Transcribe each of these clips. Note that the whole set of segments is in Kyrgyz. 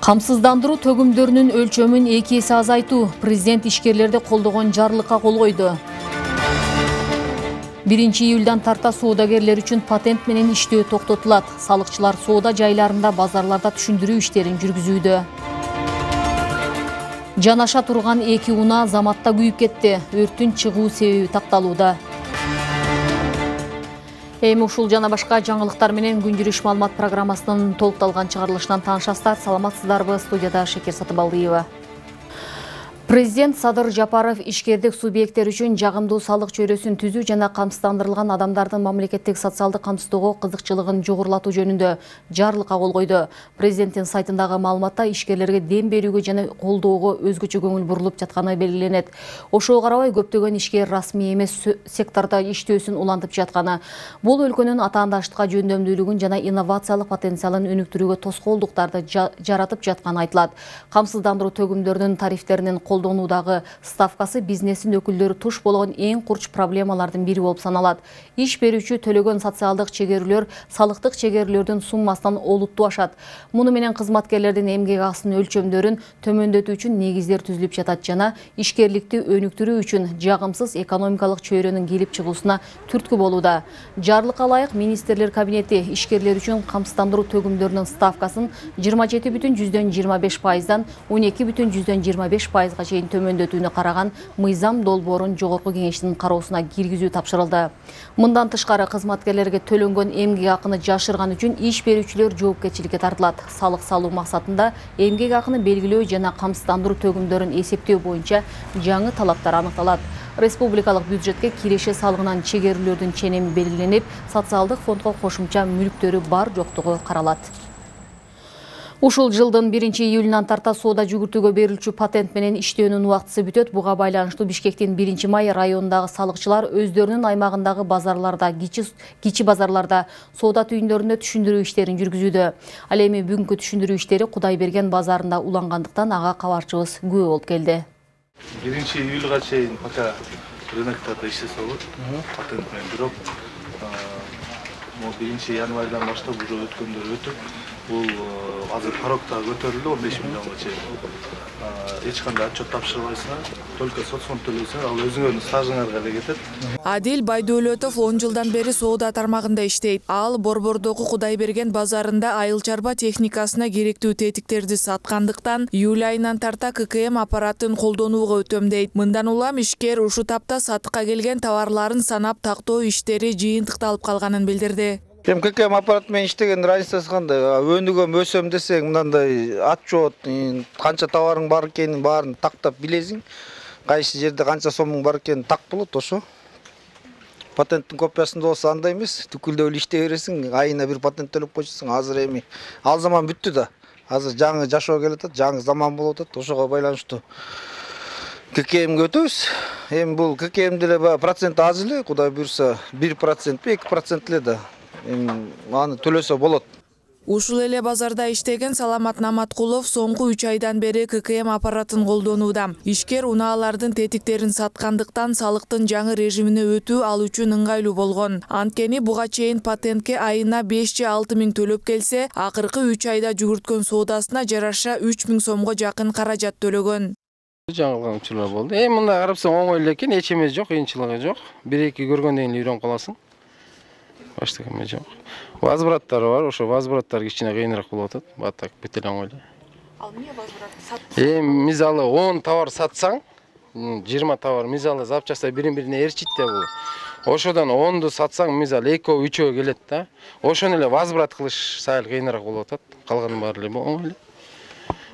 Камсыздандыруу төгүмдөрүнүн өлчөмүн 2 эсе азайтуу. Президент ишкерлерди колдогон жарлыкка кол койду. 1-июлдан тарта соодагерлер үчүн патент менен иштөө токтотулат. Салыкчылар соода жайларында, базарларда түшүндүрүү иштерин жүргүзүүдө. Жанаша турган 2 унаа Заматта күйүп кетти. Өрттүн чыгуу себеби такталууда. Эми ушул жана башка жаңылыктар менен күн-жүрүш маалымат программасынын толукталган чыгарылышынан таанышасыздар. Саламатсыздарбы? Студияда Шекер Сатыбалдиева. Президент Садыр Жапаров ишкердик субъекттер үчүн жагымдуу салык чөйрөсүн түзүү жана камсыздандырылган адамдардын мамлекеттик социалдык камсыздоого кызыкчылыгын жогорулатуу жөнүндө жарлыкка кол койду. Президенттин сайтындагы маалыматта ишкерлерге дем берүүгө жана колдоого өзгөчө көңүл бурулуп жатканы белгиленет. Ошого карабай көптөгөн ишкер расмий эмес сектордо иштөөсүн улантып жатканы, бул өлкөнүн атаандаштыкка жөндөмдүүлүгүн жана инновациялык потенциалын өнүктүрүүгө тоскоолдуктарды жаратып жатканы айтылат. Камсыздандыруу төгүмдөрүнүн тарифтеринин колдонуудагы ставкасы бизнестин өкүлдөрү туш болгон эң курч проблемалардын бири болуп саналат. Иш берүүчү төлөгөн социалдык чегерүүлөр салыктык чегерүүлөрдүн суммасынан олуттуу ашат. Муну менен кызматкерлердин эмгек акысынын өлчөмдөрүн төмөндөтүү үчүн негиздер түзүлүп жатат жана ишкерликти өнүктүрүү үчүн жагымсыз экономикалык чөйрөнүн келип чыгуусуна түрткү болууда. Жарлыкка ылайык министрлер кабинети ишкерлер үчүн камсыздандыруу төгүмдөрүнүн ставкасын 27,25%дан 12,25%га чейин төмөндөтүүнү караган мыйзам долбоорун жогорку кеңештин кароосуна киргизүү тапшырылды. Мындан тышкары кызматкерлерге төлөнгөн эмгек акыны жашырган үчүн иш берүүчүлөр жоопкерчиликке тартылат. Салык салуу максатында эмгек акыны белгилөө жана камсыздандыруу төгүмдөрүн эсептөө боюнча жаңы талаптар аныкталат. Республикалык бюджетке киреше салыгынан чегерүүлөрдүн ченеми белгиленип, социалдык фондго кошумча мүлктөрү бар жоктугу каралат. Ушул жылдын 1-июлунан тарта соода жүгүртүүгө берилчү патент менен иштөөнүн убактысы бүтөт. Буга байланыштуу Бишкектин 1-май районундагы салыкчылар өздөрүнүн аймагындагы базарларда, кичи базарларда, соода түйүндөрүндө түшүндүрүү иштерин жүргүзүүдө. Ал эми бүгүнкү түшүндүрүү иштери Кудайберген базарында улангандыктан ага кабарчыбыз күбө болуп келди. 1-июлга чейин пока рыноктарда иштесе болот. Патент менен бирок 1-январдан баштап уже өткөндөр өтүп, бул азыр порогта көтөрүлдү 15 миллионго чейин. Эч кандай отчет тапшырбайсыңар, только соцфонд төлөйсүңөр, ал өзүңөрдүн стажыңарга эле кетет. Адил Байдуулетов 10 жылдан бери соода тармагында иштейт. Ал Борбордогу Кудайберген базарында айыл чарба техникасына керектүү тетиктерди саткандыктан июль айынан тарта ККМ аппаратын колдонууга өтөм дейт. Мындан улам ишкер ушу тапта сатыкка келген товарларын санап тактоо иштери жыйынтыкталып калганын билдирди. ККМ аппарат менен иштеген разницасы кандай? Өнүгөм өсөм десең, мындай отчет, канча товарың бар экенин баарын тактап билесиң. Кайсы жерде канча сомуң бар экенин так болот, ошо. Патенттин копиясында болсо андай эмес, түкүлдөп эле иштей бересиң, айына бир патент төлөп койсоң. Азыр эми ал заман бүттү да. Азыр жаңы жашоо келатат, жаңы заман болуп атат. Ошого байланыштуу ККМге өтөбүз. Эми бул ККМде эле процент аз эле, Кудай буйрса 1% 2% эле да. Аны төлөсө болот. Ушул эле базарда иштеген Саламат Наматкулов соңку 3 айдан бери ККМ аппаратын колдонууда. Ишкер унаалардын тетиктерин саткандыктан салыктын жаңы режимине өтүү ал үчүн ыңгайлуу болгон. Анткени буга чейин патентке айына 5 же 6 миң төлөп келсе, акыркы 3 айда жүгүрткөн соодасына жараша 3 миң сомго жакын каражат төлөгөн. Жаңылган учурлар болду. Мындай карапсаң оңой эле экен, эч эмес жок, кыйынчылыгы жок. 1-2 көргөндөн кийин үйрөнүп каласың. Башка эме жок. Возвраттары бар, ошо возвраттар кичине кыйыныраак болуп атат. Баттак бүт эле оңой эле. Ал эмне возврат сат? Мисалы 10 товар сатсаң, 20 товар мисалы запчастар бири-бирине ээрчит да бул. Ошодон 10ду сатсаң, мисалы 2-3 келет да. Ошону эле возврат кылыш сайыл кыйыныраак болуп атат. Калганын баары эле оңой эле.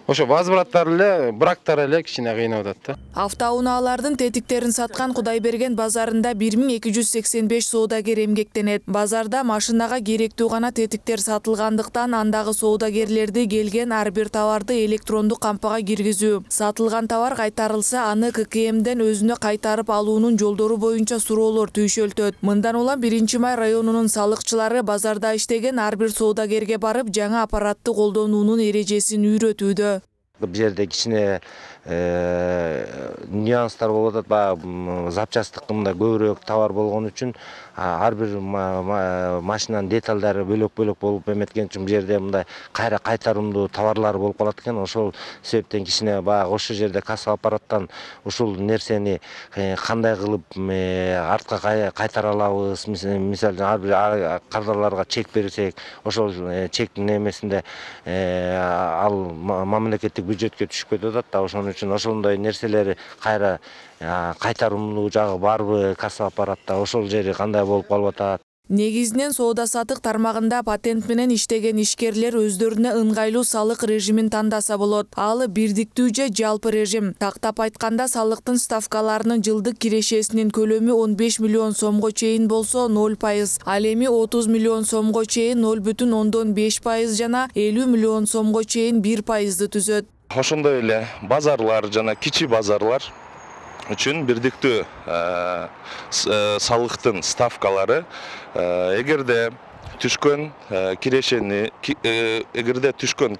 Ошо возвраттар эле, брактар эле кичине кыйнап атат да. Автоунаалардын тетиктерин саткан Кудайберген базарында 1285 соодагер эмгектенет. Базарда машинага керектүү гана тетиктер сатылгандыктан андагы соодагерлерди келген ар бир товарды электрондук кампага киргизүү. Сатылган товар кайтарылса, аны ККМден өзүнө кайтарып алуунун жолдору боюнча суроолор түйшөлтөт. Мындан улам 1-май районунун салыкчылары базарда иштеген ар бир соодагерге барып, жаңы аппаратты колдонуунун эрежесин үйрөтүүдө. Бул жерде кичине нюанстар болуп атат. Баягы запчастык мында көбүрөөк товар болгон үчүн ар бир машинанын деталдары бөлөк-бөлөк болуп эметкен үчүн бул жерде мындай кайра кайтарымдуу товарлар болуп калат экен. Ошол себептен кичине баягы ошол жерде касса аппараттан ушул нерсени кандай кылып артка кайтара алабыз, мисалы ар бир кардарларга чек берсек, ошол чектин немесинде ал мамлекеттик бюджетке түшүп кетип атат да. Ошон үчүн ошондой нерселери кайра кайтарымдуу жагы барбы касса аппаратта, ошол жери кандай болуп калып атат. Негизинен соода-саттык тармагында патент менен иштеген ишкерлер өздөрүнө ыңгайлуу салык режимин тандаса болот. Ал бирдиктүү же жалпы режим. Тактап айтканда, салыктын ставкаларынын жылдык кирешесинин көлөмү 15 миллион сомго чейин болсо 0%, ал эми 30 миллион сомго чейин 0,5% жана 50 миллион сомго чейин 1%ды түзөт. Ошондой эле базарлар жана кичи базарлар үчүн бирдиктүү салыктын ставкалары эгерде түшкөн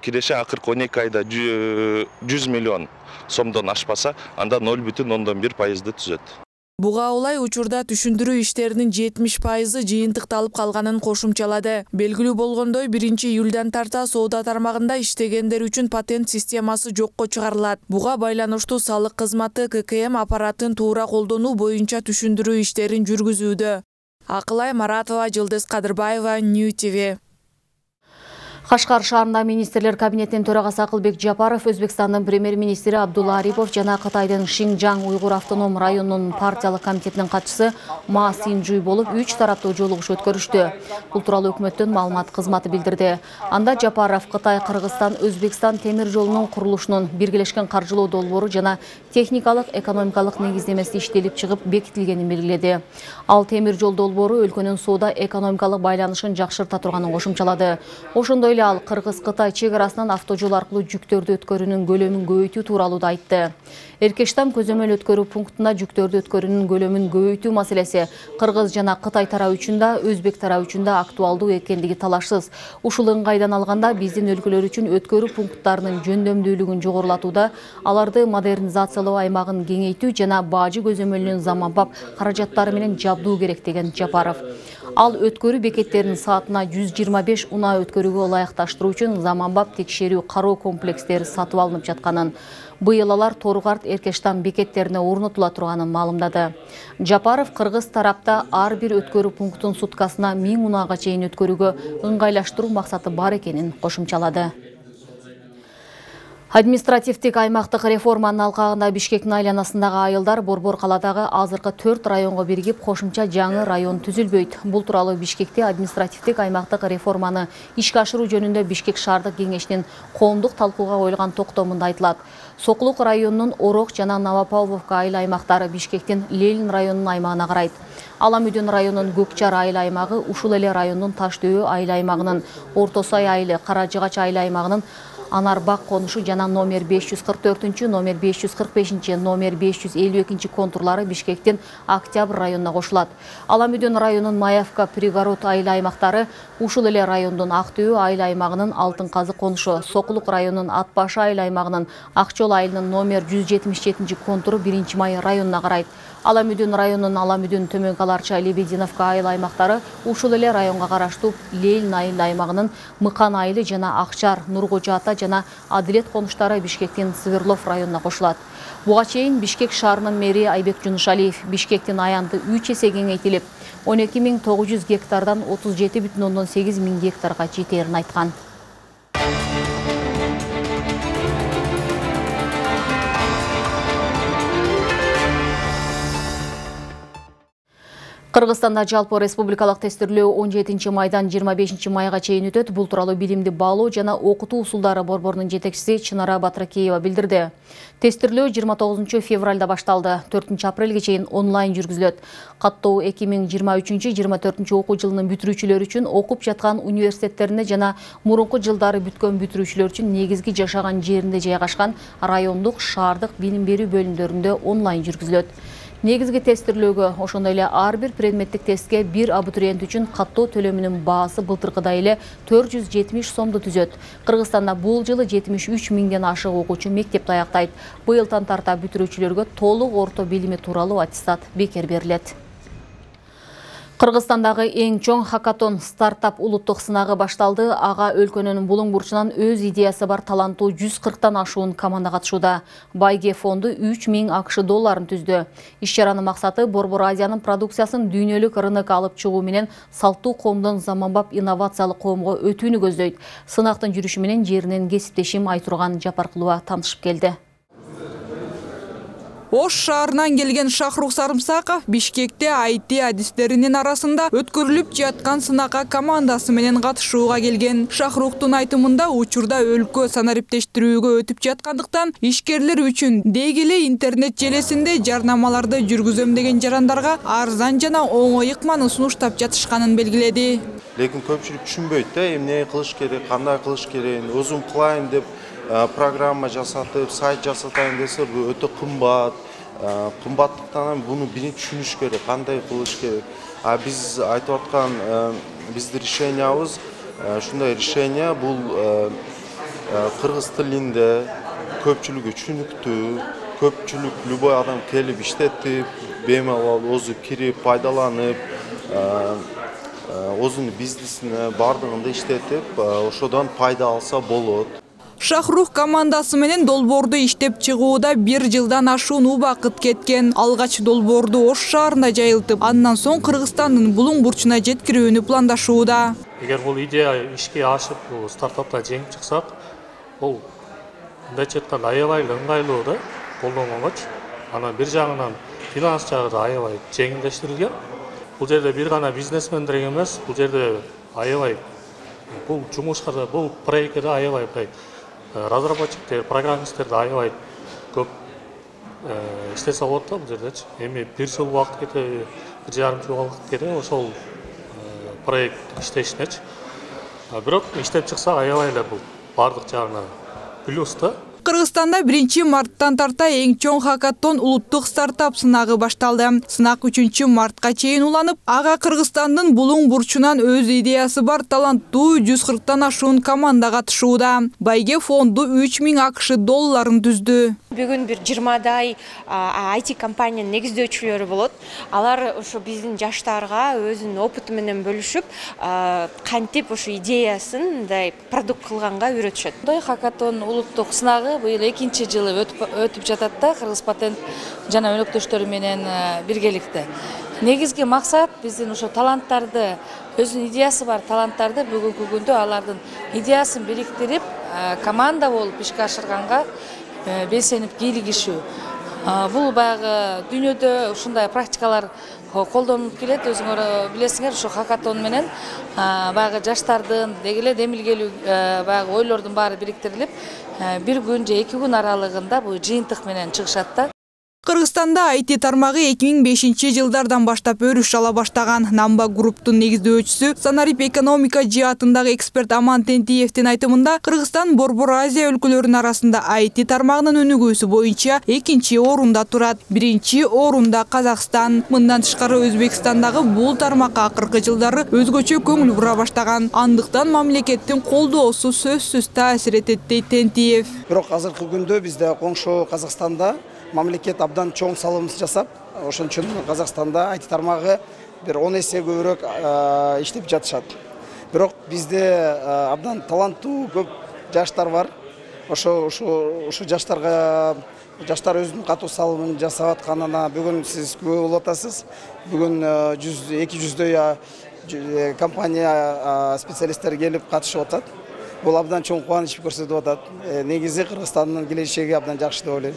киреше акыркы 12 айда 100 миллион сомдон ашпаса, анда 0,1%ды түзөт. Буга улай учурда түшүндүрүү иштеринин 70% жыйынтыкталып калганын кошумчалады. Белгилүү болгондой, 1-июлдан тарта соода тармагында иштегендер үчүн патент системасы жокко чыгарылат. Буга байланыштуу салык кызматы ККМ аппаратын туура колдонуу боюнча түшүндүрүү иштерин жүргүзүүдө. Акылай Маратова, Жылдыз Кадырбаева, New TV. Кашкар шаарында министрлер кабинетинин төрагасы Акылбек Жапаров, Өзбекстандын премьер-министри Абдулла Арипов жана Кытайдын Шинжаң Уйгур автоном районунун партиялык комитетинин катчысы Ма Синжуй болуп 3 тараптуу жолугуш өткөрүштү. Бул тууралуу өкмөттүн маалымат кызматы билдирди. Анда Жапаров Кытай, Кыргызстан, Өзбекстан темир жолунун курулушунун биргелешкен каржылоо долбоору жана техникалык, экономикалык негиздемеси иштелип чыгып бекитилгенин белгиледи. Ал темир жол долбоору өлкөнүн соода экономикалык байланышын жакшырта турганын кошумчалады. Ошондой ал Кыргыз-Кытай чек арасынан автожол аркылуу жүктөрдү өткөрүүнүн көлөмүн көбөйтүү тууралуу да айтты. Эркештам көзөмөл өткөрүү пунктуна жүктөрдү өткөрүүнүн көлөмүн көбөйтүү маселеси Кыргыз жана Кытай тарабы үчүн да, Өзбек тарабы үчүн да актуалдуу экендиги талашсыз. Ушул ыңгайдан алганда биздин өлкөлөр үчүн өткөрүү пункттарынын жөндөмдүүлүгүн жогорулатууда, аларды модернизациялоо аймагын кеңейтүү жана бажы көзөмөлүнүн заманбап каражаттары менен жабдуу керек деген Жапаров. Ал өткөрүү бекеттеринин саатына 125 унаа өткөрүүгө ылайыкташтыруу үчүн заманбап текшерүү кароо комплекстери сатып алынып жатканын, быйыл алар Торгарт, Эркештам бекеттерине орнотула турганын маалымдады. Жапаров Кыргыз тарапта ар бир өткөрүү пунктун суткасына 1000 унаага чейин өткөрүүгө ыңгайлаштыруу максаты бар экенин кошумчалады. Административдик аймактык реформанын алкагында Бишкектин айланасындагы айылдар Борбор каладагы азыркы 4 районго биригип кошумча жаңы район түзүлбөйт. Бул тууралуу Бишкекте административдик аймактык реформаны ишке ашыруу жөнүндө Бишкек шаардык кеңешинин коомдук талкууга коюлган токтомунда айтылат. Соклук районунун Орок жана Новопавловка айыл аймактары Бишкектин Ленин районунун аймагына карайт. Аламүдүн районунун Көкчар айыл аймагы ушул эле райондун Таштөө айыл аймагынын, Орто Сай айылы, Каражыгач айыл аймагынын Анарбак конушу жана номер 544, номер 545, номер 552 контурлары Бишкектин Октябрь районуна кошулат. Аламүдүн районунун Маевка, Пригород айыл аймактары ушул эле райондун Актөө айыл аймагынын Алтын Казы конушу, Сокулук районунун Атбаш айыл аймагынын Акчол айылынын номер 177 контуру 1-май районуна карайт. Аламүдүн районунун Аламүдүн, Төмөнкү Аларча, Лебединовка айыл аймактары ушул эле районго караштуу Ленин айыл аймагынын Мыкан айылы жана Акчар, Нуркожо ата жана Адилет конуштары Бишкектин Сверлов районуна кошулат. Буга чейин Бишкек шаарынын мэри Айбек Жунушалиев Бишкектин аянты 3 эсе кеңейтилип, 12900 гектардан 37,8 миң гектарга жетерин айткан. Кыргызстанда жалпы республикалык тестирлөө 17 майдан 25 майга чейин өтөт. Бул тууралуу билимди баалоо жана окутуу усулдары борборунун жетекчиси Чынара Батракеева билдирди. Тестирлөө 29 февралда башталды. 4 апрелге чейин онлайн жүргүзүлөт. Каттоо 2023-24 окуу жылынын бүтүрүүчүлөр үчүн окуп жаткан университеттерине жана мурунку жылдары бүткөн бүтүрүүчүлөр үчүн негизги жашаган жеринде жайгашкан райондук, шаардык билим берүү бөлүмдөрүндө онлайн жүргүзүлөт. Негизги тестирлөөгө, ошондой эле ар бир предметтик тестке бир абитуриент үчүн каттоо төлөмүнүн баасы былтыркыдай эле 470 сомду түзөт. Кыргызстанда бул жылы 73 миңден ашык окуучу мектепти аяктайт. Быйылдан тарта бүтүрүүчүлөргө толук орто билими тууралуу аттестат бекер берилет. Кыргызстандагы эң чоң хакатон стартап улуттук сынагы башталды. Ага өлкөнүн булуң бурчунан өз идеясы бар таланттуу 140тан ашуун команда катышууда. Байге фонду 3000 АКШ долларын түздү. Иш-чаранын максаты Борбор Азиянын продукциясын дүйнөлүк рынокко алып чыгуу менен салттуу коомдон заманбап инновациялык коомго өтүүнү көздөйт. Сынактын жүрүшү менен жеринен кесиптешим Айтурган Жапаркулова таанышып келди. Ош шаарынан келген Шахрух Сарымсаков Бишкекте IT адистеринин арасында өткөрүлүп жаткан сынакка командасы менен катышууга келген. Шахруктун айтымында учурда өлкө санариптештирүүгө өтүп жаткандыктан ишкерлер үчүн деги эле интернет желесинде жарнамаларды жүргүзөм деген жарандарга арзан жана оңой ыкманы сунуштап жатышканын белгиледи. Лекин көпчүлүк түшүнбөйт да, эмне кылыш керек, кандай кылыш керек, өзүм кылайын деп программа жасатып, сайт жасатайын десе, бул өтө кымбат. Кымбаттыктан буну биринчи түшүнүш керек, кандай кылыш керек. Биз айтып аткан биздин решениябыз, ушундай решение бул кыргыз тилинде көпчүлүгү түшүнүктүү, көпчүлүк любой адам келип иштетип, бемалал өзү кирип, пайдаланып, өзүнүн бизнесине бардыгында иштетип, ошодон пайда алса болот. Шахрух командасы менен долбоорду иштеп чыгууда 1 жылдан ашуун убакыт кеткен. Алгач долбоорду Ош шаарында жайылтып, андан соң Кыргызстандын булуң бурчуна жеткирүүнү пландашууда. Эгер бул идея ишке ашып, бул стартапта жеңип чыксак, бул мындайча айтканда аябай ыңгайлуу да, колдонгонго. Анан бир жагынан финанс жагы да аябай жеңилдештирилген. Бул жерде бир гана бизнесмендер эмес, бул жерде аябай бул жумушка да, бул проектке да аябай разработчиктер, программисттер да аябай көп иштесе болот да бул жердечи. Эми 1 жыл убакыт кетеби, 1,5 жыл убакыт кетеби ошол проект иштешинечи. Бирок иштеп чыкса аябай эле бул бардык жагынан плюс да. Кыргызстанда 1 марттан тарта эң чоң хакатон улуттук стартап сынагы башталды. Сынак 3 мартка чейин уланып, ага Кыргызстандын булуң бурчунан өз идеясы бар таланттуу 140тан ашуун команда катышууда. Байге фонду 3000 АКШ долларын түздү. Бүгүн бир 20дай IT компаниянын негиздөөчүлөрү болот. Алар ошо биздин жаштарга өзүнүн опыту менен бөлүшүп, кантип ошо идеясын мындай продукт кылганга үйрөтүшөт. Мындай хакатон улуттук сынагы быйыл 2 жылы өтүп жатат да, Кыргыз патент жана өнөктөштөрү менен биргеликте. Негизги максат биздин ошо таланттарды, өзүнүн идеясы бар таланттарды бүгүнкү күндө алардын идеясын бириктирип, команда болуп ишке ашырганга белсенип кийлигишүү. Бул баягы дүйнөдө ушундай практикалар колдонулуп келет. Өзүңөр билесиңер, ошо хакатон менен баягы жаштардын деги эле демилгелүү баягы ойлордун баары бириктирилип, 1 күн же 2 күн аралыгында бул жыйынтык менен чыгышат да. Кыргызстанда IT тармагы 2005 жылдардан баштап өрүш ала баштаган. Намба групптун негиздөөчүсү, санарип экономика жаатындагы эксперт Аман Тентиевдин айтымында, Кыргызстан Борбор Азия өлкөлөрүнүн арасында IT тармагынын өнүгүүсү боюнча 2-чи орунда турат. 1-чи орунда Казакстан. Мындан тышкары Өзбекстандагы бул тармакка акыркы жылдары өзгөчө көңүл бура баштаган. Андыктан мамлекеттин колдоосу сөзсүз таасир этет дейт Тентиев. Бирок азыркы күндө бизде коңшу Казакстанда мамлекет абдан чоң салым жасап, ошон үчүн Казакстанда IT тармагы бир 10 эсе көбүрөөк иштеп жатышат. Бирок бизде абдан таланттуу көп жаштар бар. Ошо жаштар өзүнүн катуу салымын жасап атканына бүгүн сиз күбө болуп атасыз. Бүгүн 200дөй компания специалисттери келип катышып атат. бул абдан чоң кубаныч көрсөтүп атат. Негизи Кыргызстандын келечеги абдан жакшы деп ойлойм.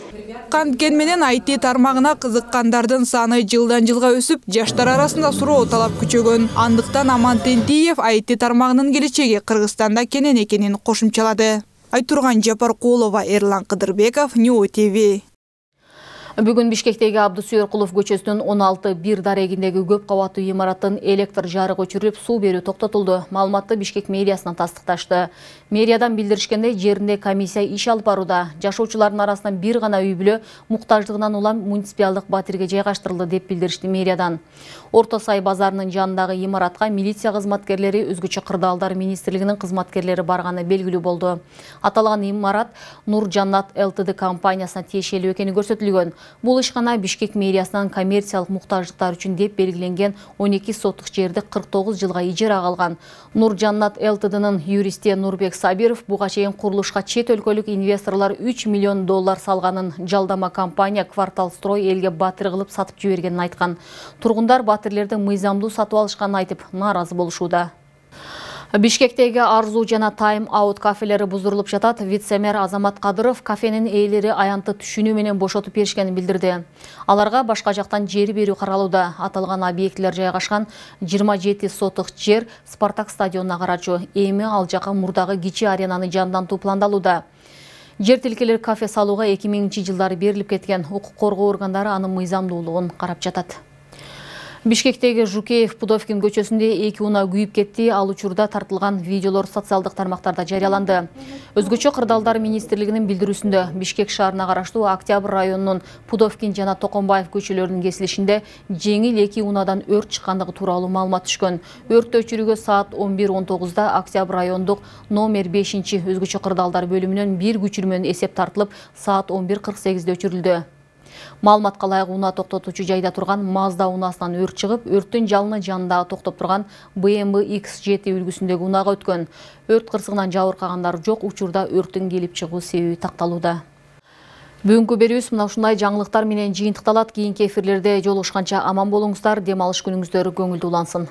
Канткен менен IT тармагына кызыккандардын саны жылдан жылга өсүп, жаштар арасында суроо талап күчөгөн. Андыктан Аман Тентиев IT тармагынын келечеги Кыргызстанда кенен экенин кошумчалады. Айтурган Жапаркулова, Эрлан Кыдырбеков, New TV. Бүгүн Бишкектеги Абдусүйөркулов көчөсүнүн 16-1 дарегиндеги көп кабаттуу имараттын электр жарыгы өчүрүлүп, суу берүү токтотулду. Маалыматты Бишкек мэриясынан тастыкташты. Мэриядан билдиришкендей, жеринде комиссия иш алып барууда. Жашоочулардын арасынан бир гана үй бүлө муктаждыгынан улам муниципалдык батирге жайгаштырылды деп билдиришти мэриядан. Орто Сай базарынын жанындагы имаратка милиция кызматкерлери, өзгөчө кырдаалдар министрлигинин кызматкерлери барганы белгилүү болду. Аталган имарат Нур Жаннат ЛТД компаниясына тиешелүү экени көрсөтүлгөн. Бул ишкана Бишкек мэриясынан коммерциялык муктаждыктар үчүн деп белгиленген 12 соттук жерди 49 жылга ижарага алган. Нур Жаннат ЛТДнын юристи Нурбек Сабиров буга чейин курулушка чет өлкөлүк инвесторлор $3 миллион салганын, жалдама компания Квартал Строй элге батир кылып сатып жибергенин айткан. Тургундар батирлердин мыйзамдуу сатып алышканын айтып, нааразы болушууда. Бишкектеги Арзу жана Тайм Аут кафелери бузурулуп жатат. Вице-мэр Азамат Кадыров кафенин ээлери аянтты түшүнүү менен бошотуп беришкенин билдирди. Аларга башка жактан жер берүү каралууда. Аталган объектилер жайгашкан 27 сотук жер Спартак стадионуна карачу. Эми ал жака мурдагы кичи аренаны жандантуу пландалууда. Жер тилкелер кафе салууга 2000-жылдары берилип кеткен. Укук коргоо органдары анын мыйзамдуулугун карап жатат. Бишкектеги Жукеев Пудовкин көчөсүндө 2 унаа күйүп кетти. Ал учурда тартылган видеолор социалдык тармактарда жарыяланды. Өзгөчө кырдаалдар министрлигинин билдирүүсүндө Бишкек шаарына караштуу Октябрь районунун Пудовкин жана Токомбаев көчөлөрүнүн кесилишинде жеңил 2 унаадан өрт чыккандыгы тууралуу маалымат түшкөн. Өрттү өчүрүүгө саат 11:19 Октябрь райондук номер 5 өзгөчө кырдаалдар бөлүмүнөн бир күчүрмөнүн эсеп тартылып, саат 11:48 өчүрүлдү. Маалыматка ылайык унаа токтотуучу жайда турган Mazda унаасынан өрт чыгып, өрттүн жалыны жанындагы токтоп турган BMW X7 үлгүсүндөгү унаага өткөн. Өрт кырсыгынан жабыркагандар жок, учурда өрттүн келип чыгуу себеби такталууда. Бүгүнкү берүүбүз мына ушундай жаңылыктар менен жыйынтыкталат. Кийинки эфирлерде жолугушканча аман болуңуздар, дем алыш күнүңүздөр көңүлдүү улансын.